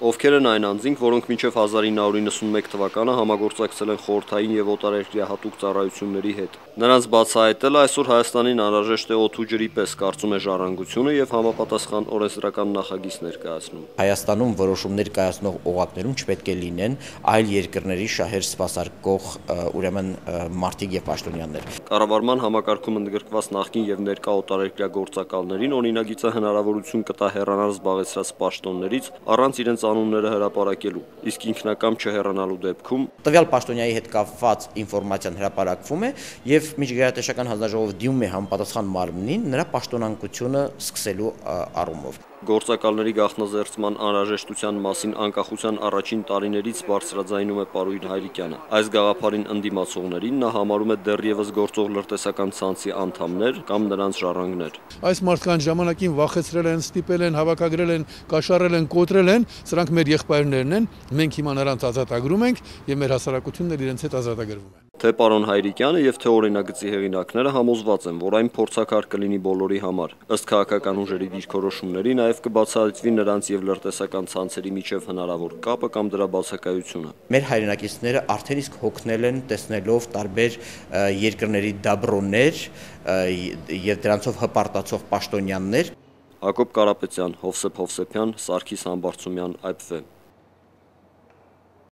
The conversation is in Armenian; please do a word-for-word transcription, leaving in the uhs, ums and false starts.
Ովքեր են այն անձինք, որոնք մինչև հազար ինը հարյուր նվաթ թվականը համագործակցել են խորհրդային եւ օտարերկրյա հատուկ ծառայությունների հետ։ Նրանց բացահայտելը այսօր Հայաստանին անհրաժեշտ է օդու ջրի պես, կարծում է Ժառանգությունը եւ համապատասխան օրենսդրական նախագիծ ներկայացնում։ Հայաստանում որոշումներ կայացնող օղակներում չպետք է լինեն այլ երկրների շահեր սպասարկող ուրեմն մարդիկ եւ պաշտոնյաներ։ Կառավարման համակարգում ընդգրկված նախկին եւ ներկա օտարերկրյա գործակալներին օրինագիծը հնարավորություն կտա հեռանալ զբաղեցրած պաշտոններից առանց իրենց անունները հրապարակելու, իսկ ինքնակամ չհեռանալու դեպքում տվյալ պաշտոնյայի հետ կապված ինֆորմացիան հրապարակվում է եւ միջգերատեսչական հանձնաժողովը դիմում է համապատասխան մարմնին նրա պաշտոնանկությունը սկսելու առումով։ Գործակալների գաղտնազերծման անհրաժեշտության մասին անկախության առաջին տարիներից բարձրաձայնում է պարոն Հայրիկյանը։ Այս գաղափարին ընդդիմացողներին նա համարում է դեռևս գործող լրտեսական ցանցի անդամներ կամ նրանց ժառանգներ։ Այս մարդկանց ժամանակին վախեցրել են, ստիպել են, հավաքագրել են, կաշառել են, կոտրել են, սրանք մեր եղբայրներն են, մենք հիմա նրանց ազատագրում ենք եւ մեր հասարակությունն իրենց հետ ազատագրվում է։ Թե պարոն Հայրիկյանը եւ թե օրինագծի հեղինակները համոզված են, որ այն փորձակար կլինի բոլորի համար։ Ըստ քաղաքական ուժերի դիրքորոշումների նաեւ կբացահայտվի նրանց եւ լրտեսական ցանցերի միջև հնարավոր կապը կամ դրա բացակայությունը։ Մեր հայրենակիցները արդեն իսկ հոգնել են տեսնելով տարբեր երկրների դաբրոններ եւ դրանցով հպարտացող պաշտոնյաներ։ Հակոբ Կարապետյան, Հովսեփ Հովսեփյան, Սարգիս Համբարձումյան, Այ Փ Ֆ։